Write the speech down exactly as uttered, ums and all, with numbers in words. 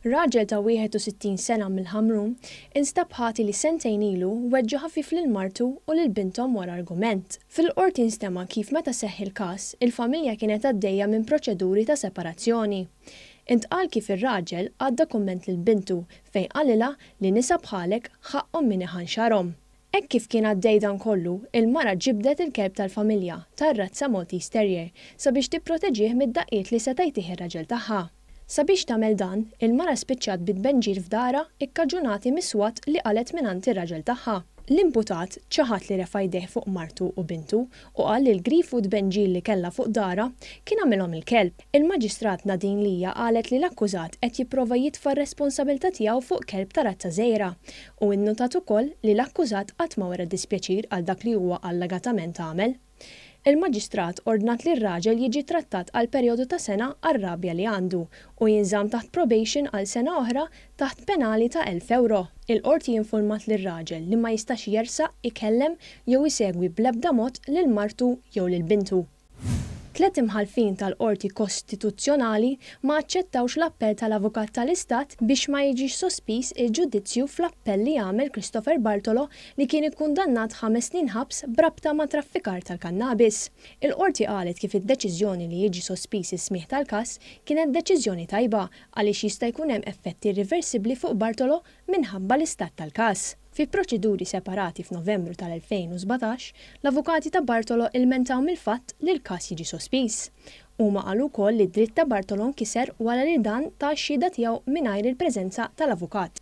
Raġel ta' wieħed u sittin sena mill-Ħamrun instab ħati li sentejn ilu weġġa' ħafif lil martu u lil binthom wara argument. Fil-qorti nstema' kif meta seħħ il-każ, il-familja kienet għaddejja minn proċeduri ta' separazzjoni. Intqal kif ir-raġel għadda kumment lil bintu fejn qalilha li nisa bħalek ħaqqhom min iħanxarhom. Hekk kif kien għaddej dan kollu, il-mara ġibdet il-kelb tal-familja tar-razza Maltese Terrier sabiex tipproteġih mid-daqqiet li seta' jtih ir-raġel tagħha. Sabiex tagħmel dan, il-mara spiċċat bit-tbenġir f'darha ikkaġunati mis-swat li qalgħet mingħand ir-raġel tagħha. L-imputat ċaħad li refa' jdejh fuq martu u bintu u qal li l-grif u tbenġil li kellha fuq darha kien għamilhom il-kelb. Il-Maġistrat Nadine Lija qalet li l-akkużat qed jipprova jitfa' r-responsabilità tiegħu fuq kelb ta' razza żgħira u innutat ukoll li l-akkużat qatt ma wera dispjaċir għal dak li huwa allegatament għamel. Il-Maġistrat ordnat li r-raġel jiġi trattat għal perjodu ta' sena għar-rabja li għandu u jinżamm taħt probation għal sena oħra taħt penali ta' elf euro. Il-qorti informat lir-raġel li ma jistax jersaq, ikellem jew isegwi bl-ebda mod lil martu jew lil bintu. Tlet imħalfin tal-Qorti Kostituzzjonali ma aċċettawx l-appell tal-Avukat tal-Istat biex ma jiġix sospiż il-ġudizzju fl-appell li għamel Christopher Bartolo, li kien ikkundannat ħames snin ħabs brabta ma' traffikar tal-kannabis. Il-qorti qalet kif id-deċiżjoni li jiġi sospiż is-smigħ tal-każ kienet deċiżjoni tajba għaliex jista' jkun hemm effetti irreversibbli fuq Bartolo minħabba l-istat tal-każ. Fi proċeduri separati f'Novembru tal-elfejn u sbatax, l-avukati ta' Bartolo ilmentaw mill-fatt li l-każ jiġi sospiż. Huma qalu wkoll li d-dritt ta' Bartolo nkiser wara li dan ta x-xhieda tiegħu mingħajr il-preżenza tal-avukat.